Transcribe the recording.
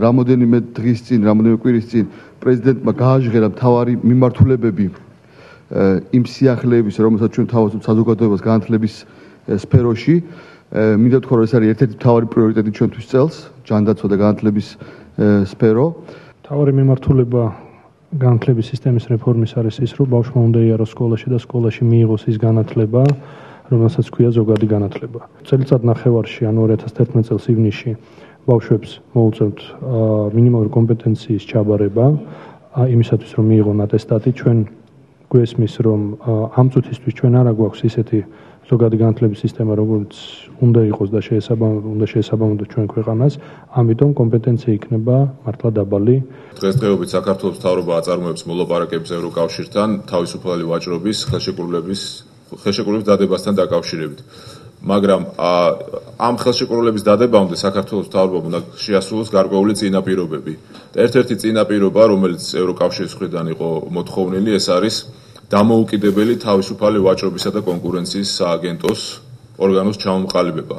რამოდენიმე დღის წინ, რამოდენიმე კვირის წინ პრეზიდენტმა გააჟღერა მთავარი მიმართულებები იმ სიახლეების, რომელსაც ჩვენ თავაზობთ საზოგადოებას განათლების სფეროში. მინდა ვთქვა, რომ ეს არის ერთ-ერთი მთავარი პრიორიტეტი ჩვენთვის წელს, ჯანდაცვა და განათლების სფერო. მთავარი მიმართულება განათლების სისტემის რეფორმის არის ის, რომ ბავშვმა უნდა იაროს სკოლაში და სკოლაში მიიღოს ის განათლება, რომელსაც ქვია ზოგადი განათლება. წელიწად ნახევარში, ანუ 2011 წელს ივნისში ბავშვებს მოუწევთ მინიმალური კომპეტენციის ჩაბარება, იმისათვის რომ მიიღონ ატესტატი. ჩვენ გვესმის, რომ ამ წუთისთვის ჩვენ არ აგვაქვს ისეთი ზოგადი განათლების სისტემა, როგორც უნდა იყოს და შეესაბამებოდა ჩვენ ქვეყანას, ამიტომ კომპეტენცია იქნება მართლა დაბალი. დღესდღეობით საქართველოს მთავრობა აწარმოებს მოლაპარაკებებს ევროკავშირთან თავისუფალი ვაჭრობის ხელშეკრულების დადებასთან დაკავშირებით. მაგრამ ამ ხელშეკრულების დადებამდე საქართველოს მთავრობამ უნდა შეასრულოს გარკვეული წინაპირობები. ერთ-ერთი წინაპირობა, რომელიც ევროკავშირის მხრიდან იყო მოთხოვნილი, ეს არის დამოუკიდებელი თავისუფალი ვაჭრობისა და კონკურენციის სააგენტოს ორგანოს ჩამოყალიბება.